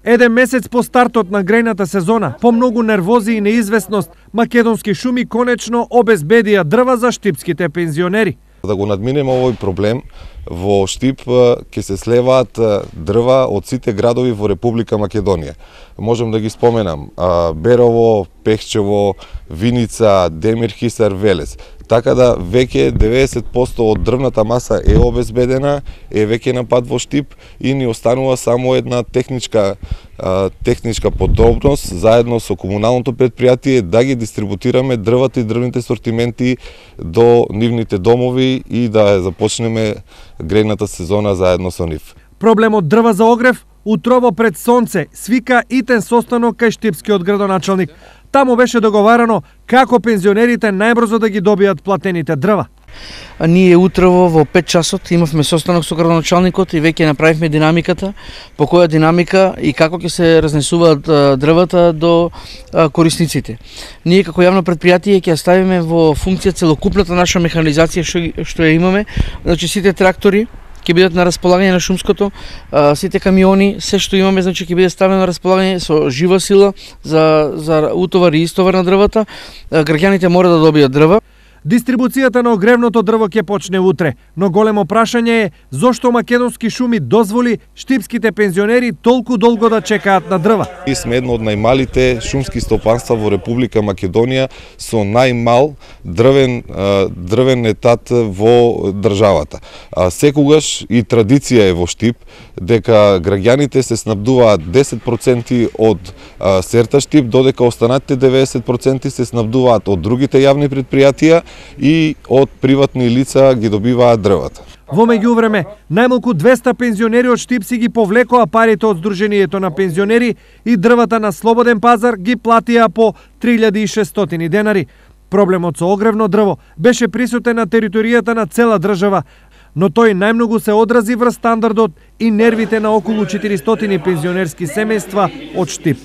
Еден месец по стартот на грејната сезона, по многу нервози и неизвестност, Македонски шуми конечно обезбедија дрва за штипските пензионери. Да го надминеме овој проблем, во Штип ќе се слеваат дрва од сите градови во Република Македонија. Можем да ги споменам Берово, Пехчево, Виница, Демирхисар, Велес. Така да веќе 90% од дрвната маса е обезбедена, е веќе на пат во Штип и ни останува само една техничка подробност заедно со комуналното предпријатие да ги дистрибутираме дрвата и дрвните сортименти до нивните домови и да започнеме грејната сезона заедно со нив. Проблемот дрва за огрев утрово пред сонце свика итен состанок кај штипскиот градоначалник. Таму беше договарано како пензионерите најбрзо да ги добијат платените дрва. Ние утрово во 5 часот имавме состанок со градоначалникот и веќе направивме динамиката, по која динамика и како ќе се разнесуваат дрвата до корисниците. Ние како јавно предпријатие ќе ставиме во функција целокупната наша механизација што ја имаме, значи сите трактори ќе бидат на располагање на шумското, сите камиони, се што имаме, значи ќе биде ставено на располагање со жива сила за утовар и истовар на дрвата. Граѓаните мора да добијат дрва. Дистрибуцијата на огревното дрво ќе почне утре, но големо прашање е зошто Македонски шуми дозволи штипските пензионери толку долго да чекаат на дрва. Ние сме едно од најмалите шумски стопанства во Република Македонија со најмал дрвен етат во државата. Секогаш и традиција е во Штип дека граѓаните се снабдуваат 10% од Серта Штип, додека останатите 90% се снабдуваат од другите јавни предпријатија и од приватни лица ги добиваат дрвата. Во меѓувреме, најмалку 200 пензионери од Штип си ги повлекоа парите од Сдруженијето на пензионери и дрвата на слободен пазар ги платија по 3600 денари. Проблемот со огревно дрво беше присутен на територијата на цела држава, но тој најмногу се одрази врз стандардот и нервите на околу 400 пензионерски семејства од Штип.